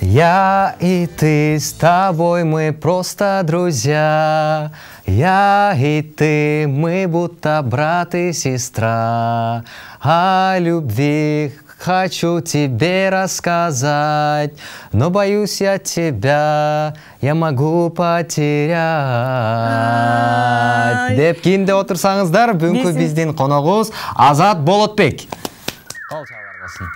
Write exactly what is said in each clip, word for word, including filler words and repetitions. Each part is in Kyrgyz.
Я и ты, с тобой мы просто друзья. Я и ты, мы будто брат и сестра. О любви хочу тебе рассказать, но боюсь я тебя, я могу потерять. Деп кийинде отурсаңыздар, бүгүнкү биздин коногубуз Азат Болотбек. Кол чалар болсун.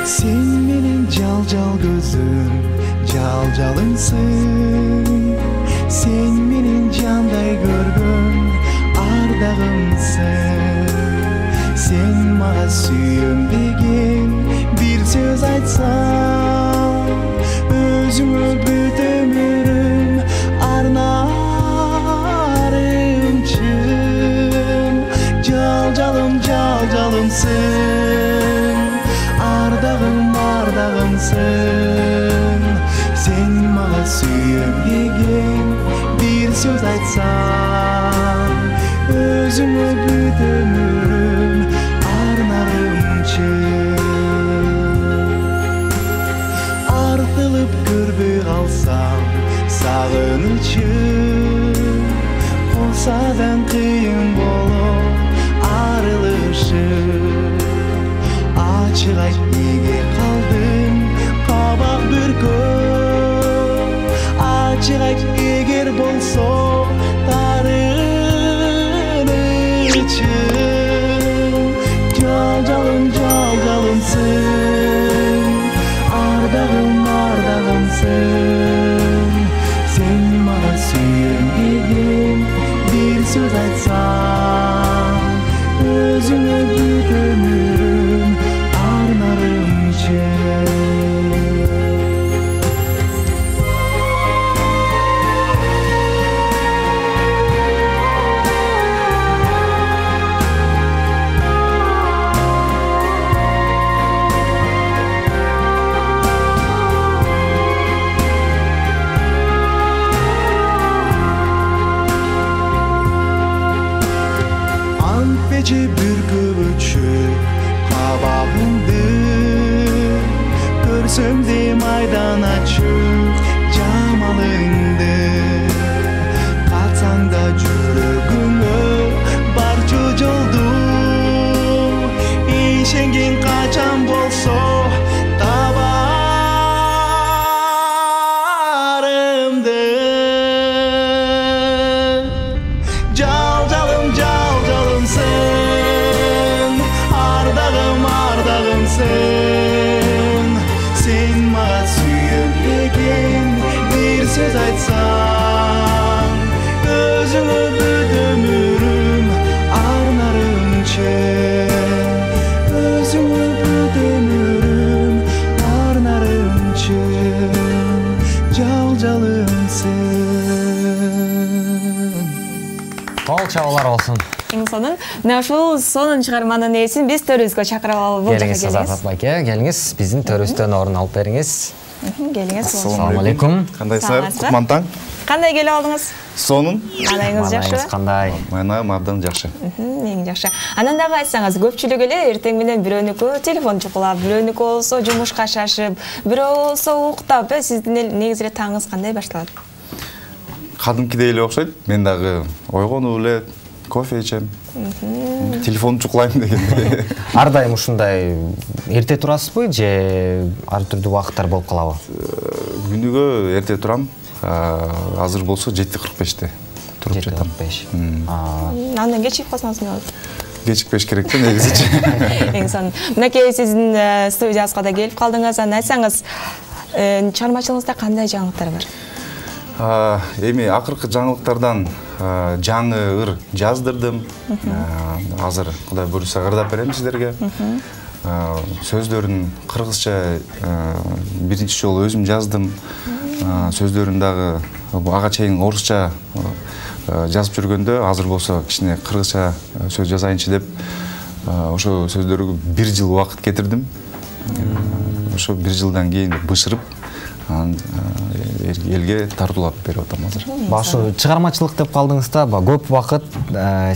Sen menin jal-jal gözüm, jal-jalımsın. Sen menin janday görgön ardağımsın. Sen mağa sүйөнбеген bir söz айтсаң, өзүңө бүт өмүрүм арнарымчын. Жал-жалым, жал-жалымсың, ардагым, ардагымсың. Sen mağa sүйөнбеген bir söz айтсаң, өзүңө бүт өмүрүм арнарымчын. Артылып көрбөй калсам сагынычым, косадан кыйын болуп арылышым. Ачык айт неге калдың кабак бүркөп, ачык айт эгер болсо тарынычым. Жал-жалым, жал-жалымсың, ардагым, ардагымсың. Sen mağa sүйөнбеген bir söz айтсаң, өзүңө бүт өмүрүм арнарымчын. Antpece bürküp ötüşüp kabagımdı, görsöm de maydan açıp jamalыңды. Katsang da жүрөгүңө барчу жолду, ишенген качан болсо табарымды. Жал-жалым, жал-жалымсың, ардагым, ардагымсың. Sen mağa sүйөнбеген bir söz айтсаң, өзүңө бүт өмүрүм арнарымчын. Өзүңө бүт өмүрүм арнарымчын. Жал-жалымсың. Кол чабуулар болсун. Эң сонун. Мына ушул сонун чыгарманын ээсин биз төрүбүзгө чакырып алып бул жака Келиңиз Азат байке, келиңиз биздин төрүбүздөн орун алып бериңиз. Келиңиз. Ассалам алейкум. Кандайсыздар? Кутман таң. Кандай келип алдыңыз? Сонун. Маанайыңыз жакшыбы? Кандай? Маанайым абдан жакшы. Эң жакшы. Анан дагы айтсаңыз, көпчүлүк эле эртең менен бирөөнүкү телефон чукулап, бирөөнүкү болсо жумушка шашып, бирөө болсо уктап, э сиздин негизи эле таңыңыз кандай башталат? Кадимкидей эле окшойт. Мен дагы ойгонуп эле кофе ичем. Телефон чукулайм дегенде. Ар дайым ушундай эрте турасызбы же ар түрдүү убакыттар болуп калабы? Күнүгө эрте турам. Азыр болсо жети кырк беште туруп жети жатам. кырк беш. Андан кечип калсаңыз эмне болот? Кечикпеш керек да негизичи. Эң сонун. Мынакей сиздин студиябызга да келип калдыңыз. Анан айтсаңыз, чыгармачылыгыңызда кандай жаңылыктар бар? Эми акыркы жаңылыктардан жаңы ыр жаздырдым. Азыр Кудай буйруса ырдап берем сиздерге. Сөздөрүн кыргызча биринчи жолу өзүм жаздым. Сөздөрүн дагы ага чейин орусча жазып жүргөндө азыр болсо кичине кыргызча сөз жазайынчы деп ошо сөздөргө бир жыл убакыт кетирдим. Ошо бир жылдан кийин бышырып анан элге тартуулап берип атам азыр. Башы чыгармачылык деп калдыңыз да, көп убакыт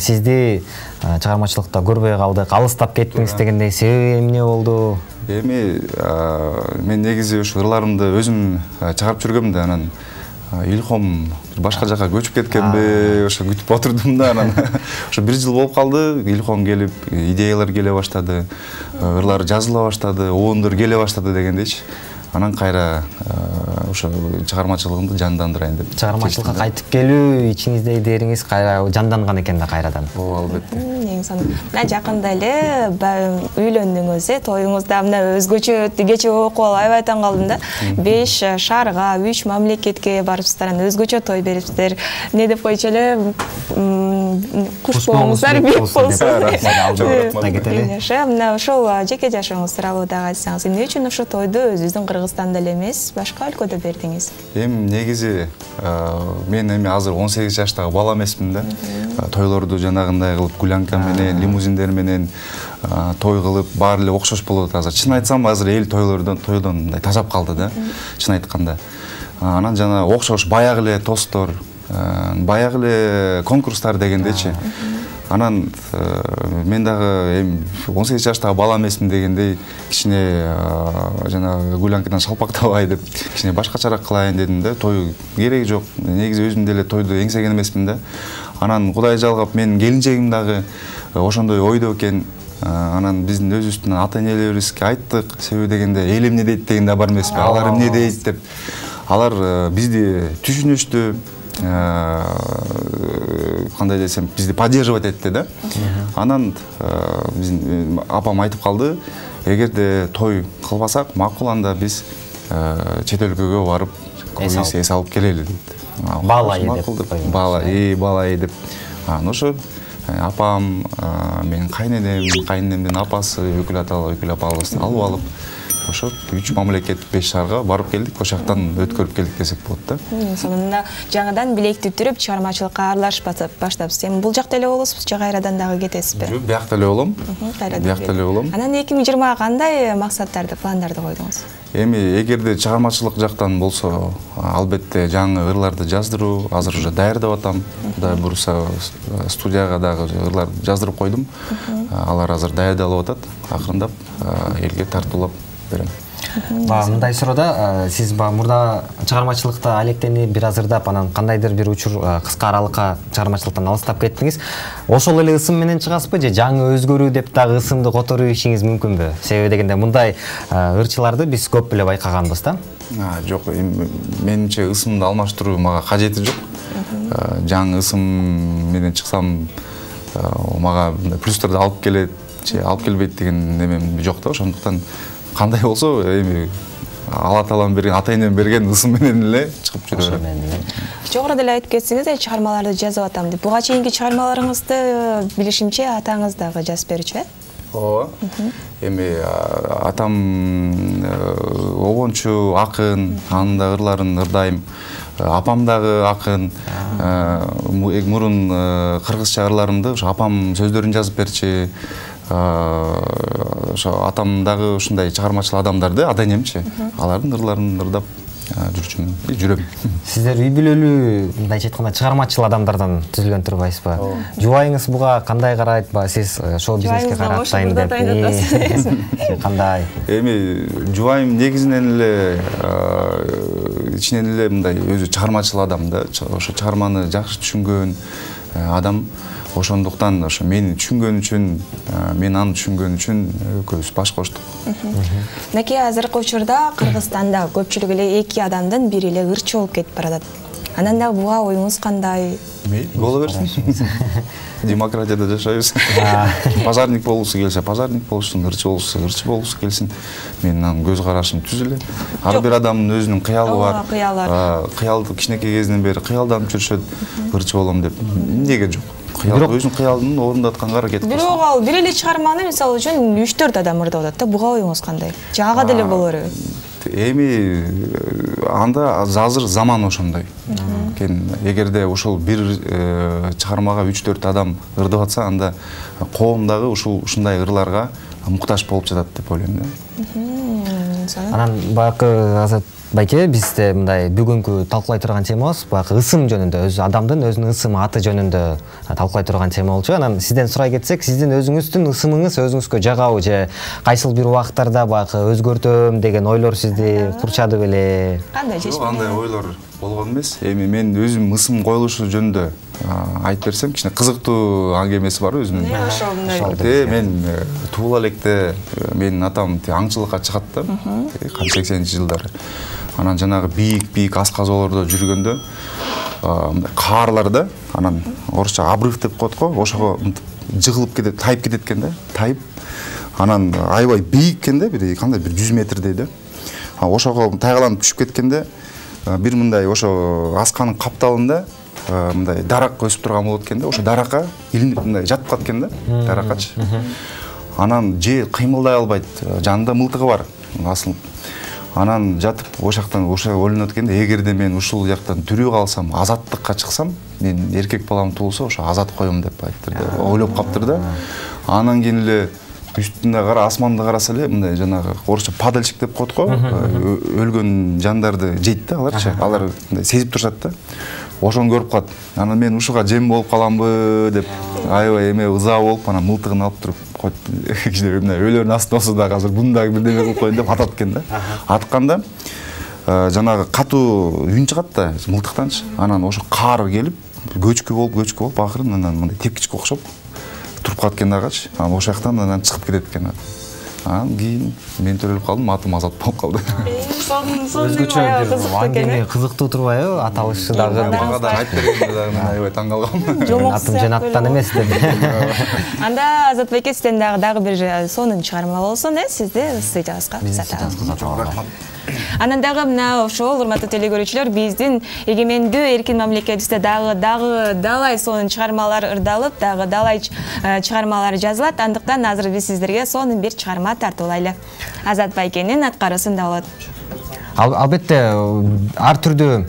сизди чыгармачылыкта көрбөй калдык, алыстап кеттиңиз дегендей себеби эмне болду? Эми мен негизи ушу ырларымды өзүм чыгарып жүргөм да, анан илхом башка жака көчүп кеткенби, ошо күтүп отурдум да, анан ошо бир жыл болуп калды, илхом келип, идеялар келе баштады, ырлар жазыла баштады, оондар келе баштады дегендейчи. Анан кайра ошо чыгармачылыгымды жандандырайын деп. Чыгармачылыкка кайтып келүү ичиңиздеги дериңиз кайра жанданган экен да кайрадан. Ооба, албетте. Эң сонун. Мына жакында эле үйлөндүңүз, э, тоюңузда мына өзгөчө өттү. Кече окуп алып аябай таң калдым да. беш шаарга, үч мамлекетке барыпсыздар, анан өзгөчө той берипсиздер. Не деп койчу эле, куш болуңуздар, бек болсуңуздар. Мына ошол жеке жашооңуз тууралуу дагы айтсаңыз, эмне үчүн ошо тойду өзүбүздүн Кыргызстанда эле эмес, башка өлкөдө бердиңиз? Эми негизи мен эми азыр он сегиз жаштагы бала эмесмин да. Тойлорду жанагындай кылып, гулянка менен, лимузиндер менен той кылып, баары эле окшош болуп атат азыр. Чын айтсам, азыр эл тойлордон, тойдон мындай тажап калды да. Чын айтканда. Анан жана окшош баягы эле тосттор, баягы эле конкурстар дегендечи. Анан мен дагы эми он сегиз жаштагы бала эмесмин дегендей кичине жана гулянкадан шалпактабай деп кичине башкачараак кылайын дедим да. Той кереги жок. Негизи өзүм деле тойду эңсеген эмесмин да. Анан Кудай жалгап менин келинчегим дагы ошондой ойдо экен. Анан биздин өзүбүздүн ата-энелерибизге айттык, себеби дегенде эл эмне дейт деген да бар эмеспи? Алар эмне дейт деп. Алар бизди түшүнүштү, кандай десем, бизди поддерживать этти да. Анан биздин апам айтып калды, эгерде той кылбасак, макул анда биз чет өлкөгө барып эс алып келели дейт. Баалай деп. Баалай, э, баалай деп. Анан ошо апам, менин кайненем, кайненемдин апасы, өкүл ата, өкүл апабызды алып алып, ошо үч мамлекет, беш шаарга барып келдик, ошол жактан өткөрүп келдик десек болот да. Сонунда жаңыдан билекти түрүп чыгармачылыкка аралашып баштапсыз. Эми бул жакта эле болосузбу, же кайрадан дагы кетесизби? Жок, биякта эле болом. Биякта эле болом. Анан эки миң жыйырмага кандай максаттарды, пландарды койдуңуз? Эми эгерде чыгармачылык жактан болсо, албетте жаңы ырларды жаздыруу, азыр уже даярдап атам. Кудай буюрса, студияга дагы ырлар жаздырып койдум. Алар азыр даярдалып атат, акырындап элге тартуулап берем. Мындай суроода сиз мурда чыгармачылыкта алектенип, бир азырдап, анан кандайдыр бир учур кыска аралыкка чыгармачылыктан алыстап кеттиңиз. Ошол эле ысым менен чыгасызбы же жаңы өзгөрүү деп дагы ысымды которуп ишиңиз мүмкүнбү? Себеби дегенде мындай ырчыларды биз көп эле байкаганбыз да. Жок, менимче ысымды алмаштыруу мага кажети жок. Жаңы ысым менен чыксам мага плюстарды алып келет, же алып келбейт деген немем жок да. Ошондуктан кандай болсо, эми Алла Таалам берген, ата-энем берген ысым менен эле чыгып жүрөм. Жогоруда эле айтып кетсеңиз, чыгармаларды жазып атам деп. Буга чейинки чыгармаларыңызды билишимче атаңыз дагы жазып берчү, э? Ооба. Эми атам обончу, акын, анын да ырларын ырдайм. Апам дагы акын. Мурун кыргызча ырларымды ошо апам сөздөрүн жазып берчү. Ошо атам дагы ушундай чыгармачыл адамдар да, ата-энемчи. Алардын ырларын ырдап жүрчүмүн, жүрөм. Сиздер үй бүлөлүү, мындайча айтканда, чыгармачыл адамдардан түзүлгөн турбайсызбы? Жубайыңыз буга кандай карайт? Сиз шоу бизнеске каратайын деп. Кандай? Эми жубайым негизинен эле ичинен эле мындай өзү чыгармачыл адам да, ошо чыгарманы жакшы түшүнгөн адам. Ошондуктан ошо мени түшүнгөн үчүн, мен аны түшүнгөн үчүн экөөбүз баш коштук. Мынакей азыркы учурда Кыргызстанда көпчүлүк эле эки адамдын бири эле ырчы болуп кетип баратат. Анан да буга оюңуз кандай? Боло берсин. Демократияда жашайбыз. Пазарник болуусу келсе, пазарник болушун, ырчы болуусу, ырчы болуусу келсин. Менин анын көз карашым түз эле. Ар бир адамдын өзүнүн кыялы бар. Кыялды кичинекей кезинен бери кыялданып жүрүшөт, ырчы болом деп. Эмнеге жок? Кыял өзүнүн кыялын орундатканга аракет кылат. Бирок ал бир эле чыгарманы мисалы үчүн үч төрт адам ырдап атат да. Буга оюңуз кандай? Же ага деле болору? Эми анда азыр заман ошондой. анткени эгерде ошол бир чыгармага үч төрт адам ырдап атса, анда коом дагы ушул ушундай ырларга муктаж болуп жатат деп ойлойм да. Анан баягы Азат байке, бизде мындай бүгүнкү талкуулай турган темабыз баягы ысым жөнүндө, өз адамдын өзүнүн ысымы, аты жөнүндө талкуулай турган тема болчу. Анан сизден сурай кетсек, сиздин өзүңүздүн ысымыңыз өзүңүзгө жагабы же кайсыл бир убактарда баягы өзгөртөм деген ойлор сизди курчады беле? Кандай чечим? Жок, андай ойлор болгон эмес. Эми мен өзүм ысым коюлушу жөнүндө айтып берсем, кичине кызыктуу аңгемеси бар өзүнүн. Ошол мен туула электе менин атам аңчылыкка чыгат да, канча сексенинчи жылдары. Анан жанагы бийик-бийик асказоолордо жүргөндө мындай каарлар да, анан орусча обрыв деп коет го, ошого жыгылып кетет, тайып кетет экен да, тайып. Анан аябай бийик экен да, бир кандай бир жүз метрдей да. Ошого тайгаланып түшүп кеткенде бир мындай ошо асканын капталында мындай дарак өсүп турган болот экен да, ошо даракка илинип мындай жатып калат экен да, дараккачы. Анан же кыймылдай албайт, жанында мылтыгы бар, асылып. Анан жатып ошактан ошо ойлонот экен да, эгерде мен ушул жактан тирүү калсам, азаттыкка чыксам, мен эркек балам туулса, ошо азат коем деп айттыр да, ойлоп каптыр да. Анан кийин эле үстүндө кара, асманды караса эле мындай жанагы орусча падальщик деп коет го, өлгөн жандарды жейт да аларчы, алар мындай сезип турушат да. Ошону көрүп калат. Анан мен ушуга жем болуп каламбы деп аябай эме ыза болуп, анан мылтыгын алып туруп коет. Кичине мындай өлөрүн астында болсо да азыр буну дагы бирдеме кылып коеюн деп атат экен да. Атканда жанагы катуу үн чыгат да мылтыктанчы. Анан ошо каар келип, көчкү болуп, көчкү болуп, акырын анан мындай тепкичке окшоп туруп калат экен дагычы. Анан ошол жактан анан чыгып кетет экен. Анан кийин мен төрөлүп калдым, атым Азат болуп калды. Өзгөчө бир аңгеме кызыктуу турбайбы? Аталышы дагы мага да айтып бергенде дагы аябай таң калгам. Атым Жанаттан эмес деп. Анда Азат байке, сизден дагы дагы бир сонун чыгарма болсун, э, сизди студиябызга кызатабыз. Анан дагы мына ошол урматтуу телекөрүүчүлөр, биздин эгемендүү эркин мамлекетибизде дагы дагы далай сонун чыгармалар ырдалып, дагы далай чыгармалар жазылат. Андыктан азыр биз сиздерге сонун бир чыгарма тартуулайлы. Азат байкенин аткаруусунда болот. Албетте, ар түрдүү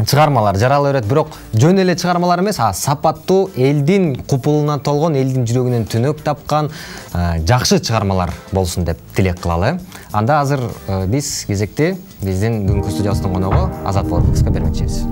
чыгармалар жарала берет, бирок жөн эле чыгармалар эмес, а сапаттуу, элдин купулуна толгон, элдин жүрөгүнөн түнөк тапкан жакшы чыгармалар болсун деп тилек кылалы. Анда азыр биз кезекти биздин бүгүнкү студиябыздын коногу Азат Болотбековго бермекчибиз.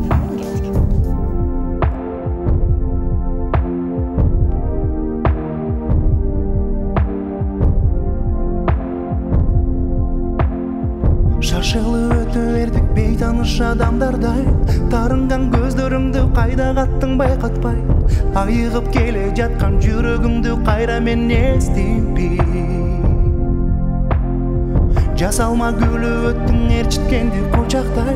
Шашылы өтө бердик бейтаныш адамдардай, тарынган көздөрүңдү кайда каттың байкатпай, айыгып келе жаткан жүрөгүмдү кайра мен эстейби. Жасалма гүлү өттүң ээрчиткенди кучактай,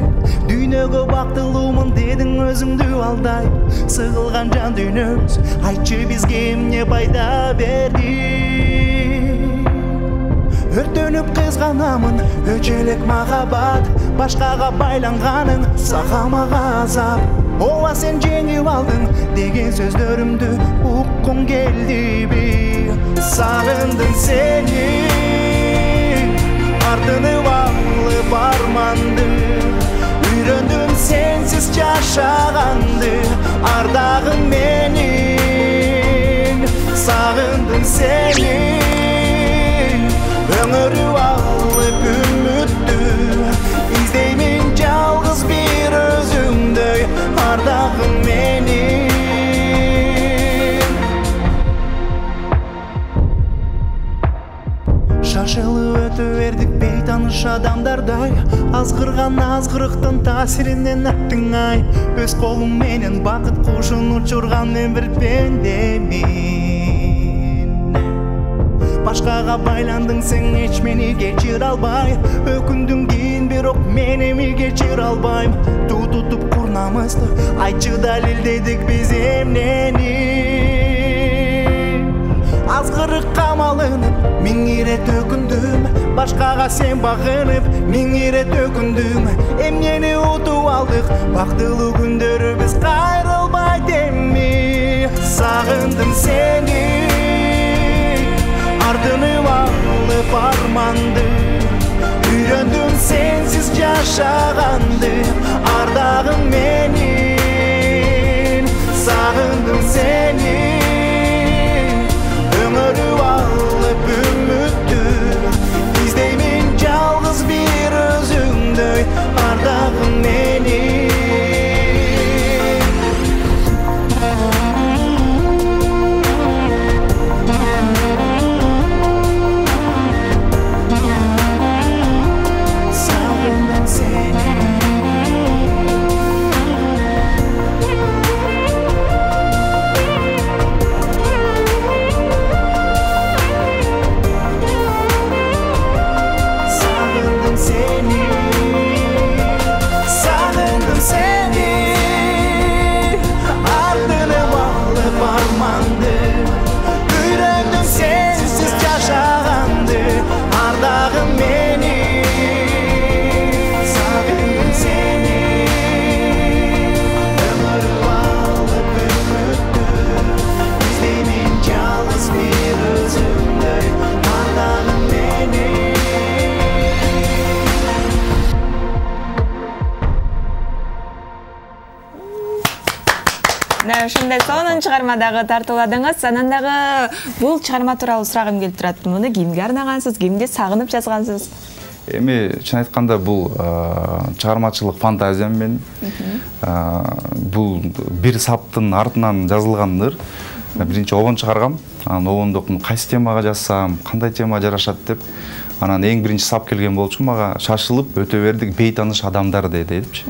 дүйнөгө бактылуумун дедиң өзүңдү алдай. Сыгылган жан дүйнөбүз, айтчы бизге эмне пайда берди? Өртөнүп кызганамын, өчөлөк махаббат, башкага байланганын сагамага азап. Ооба сен жеңип алдың деген сөздөрүмдү уккум келдиби? Сагындым сени, артынып алып арманды, үйрөндүм сенсиз жашаганды, ардагым менин. Сагындым сени, ömürü alıp ümmüttü, İzdeymin жалгыз bir özümdöy, ardağım benim. Şaşılı ötü verdik beytanış adamdarday, azgırgan azgırıktın tasirinden attın ay. Öz kolum menen bakıt kuşun uçurgan men bir pendemin. Башкага байландың сен, эч мени кечире албай, өкүндүң кийин бирок мен эми кечире албайм. Туу тутуп курнамызды, айтчы далилдедик биз эмнени? Азгырыкка малынып, миң ирет өкүндүм, башкага сен багынып, миң ирет өкүндүм. Эмнени утуп алдык, бактылуу күндөрүбүз кайрылбайт эми. Сагындым сени, ardınıp alıp armandı, үйрөндүм сенсиз жашаганды, ардагым менин. Sağındım seni Ömürü alıp ümittü İzdeymin жалгыз bir özüңдөй Ардагым meni Sağındım seni Sağındım seni Sağındım seni Ardını bağlı parmandı Yüreğim sensiz yaşagandı Ardağım beni Sağındım seni Ömür bağlı ümittü İzdeymin жалгыз bir özüңдөй Ardağım beni Мына ушундай сонун чыгармадагы тартууладыңыз. Анан дагы бул чыгарма тууралуу сурагым келип турат. Муну кимге арнагансыз, кимди сагынып жазгансыз? Эми чын айтканда бул чыгармачылык фантазиям менен бул бир саптын артынан жазылгандыр. Биринчи обон чыгаргам. Анан обондо кайсы темага жазсам, кандай тема жарашат деп анан эң биринчи сап келген болчу мага шашылып өтө бердик бейтаныш адамдар депчи.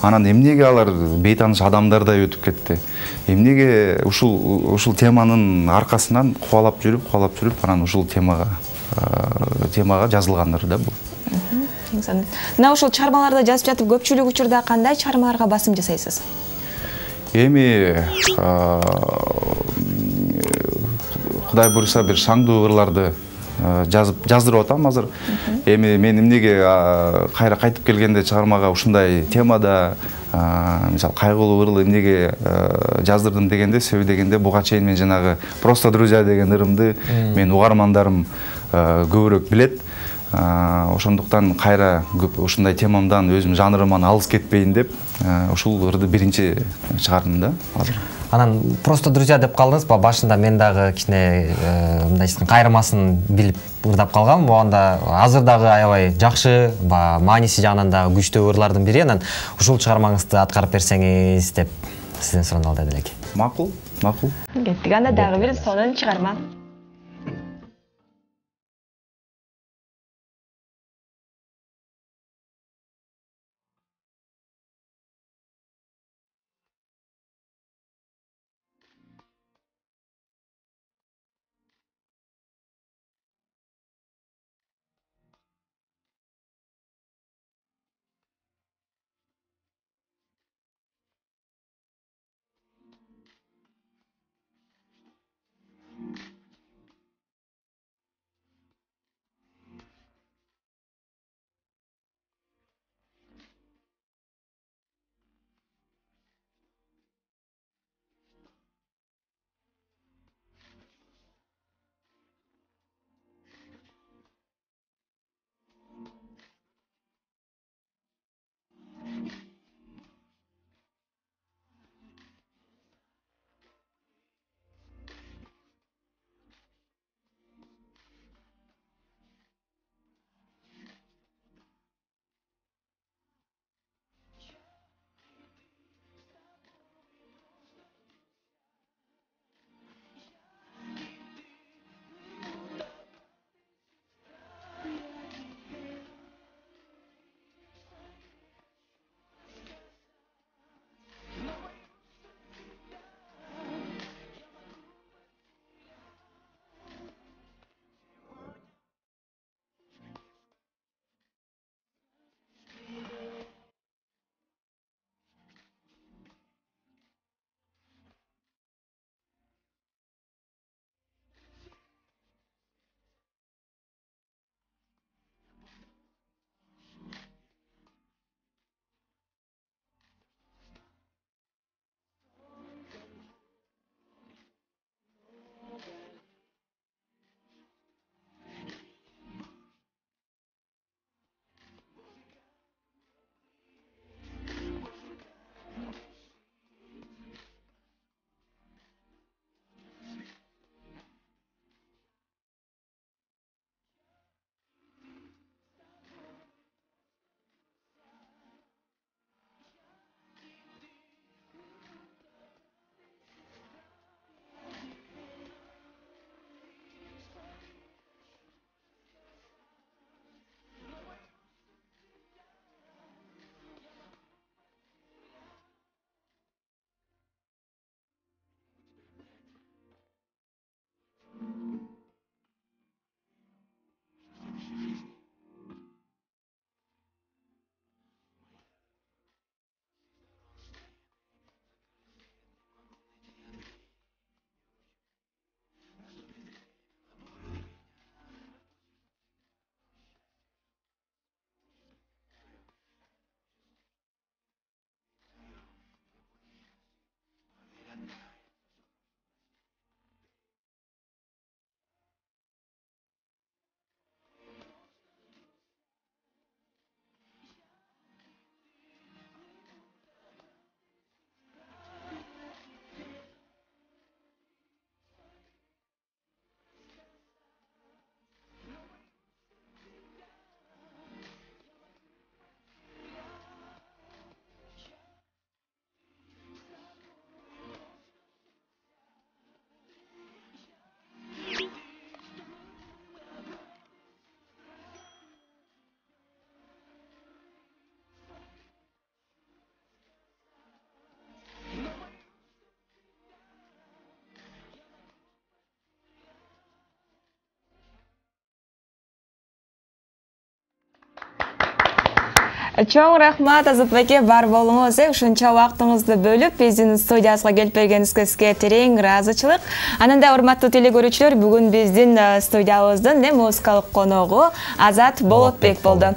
Анан эмнеге алар бейтаныш адамдардай өтүп кетти? Эмнеге ушул ушул теманын аркасынан кубалап жүрүп, кубалап жүрүп анан ушул темага темага жазылгандыр да бул. Мына ушул чыгармаларды жазып жатып көпчүлүк учурда кандай чыгармаларга басым жасайсыз? Эми Кудай буйруса бир шаңдуу ырларды жазып жаздырып атам азыр. Эми мен эмнеге кайра кайтып келгенде чыгармага ушундай темада мисалы кайгылуу ырыл эмнеге жаздырдым дегенде, себеби дегенде буга чейин мен жанагы просто друзья деген ырымды мен угармандарым көбүрөөк билет. Ошондуктан кайра ушундай темамдан өзүм жанрыман алыс кетпейин деп ушул ырды биринчи чыгардым да азыр. Анан просто друзья деп калдыңыз, башында мен дагы кичине мындайча кайрымасын билип ырдап калгам. Анда азыр дагы аябай жакшы, мааниси жагынан дагы күчтүү ырлардын бири. Анан ушул чыгармаңызды аткарып берсеңиз деп сизден сурандалды элек. Макул, макул. Кеттик, анда дагы бир сонун чыгарма. Чоң рахмат Азат байке, бар болуңуз. Ушунча убактыңызды бөлүп биздин студиябызга келип бергениңизге сизге терең ыраазычылык. Анан да урматтуу телекөрүүчүлөр, бүгүн биздин студиябыздын музыкалык коногу Азат Болотбек болду.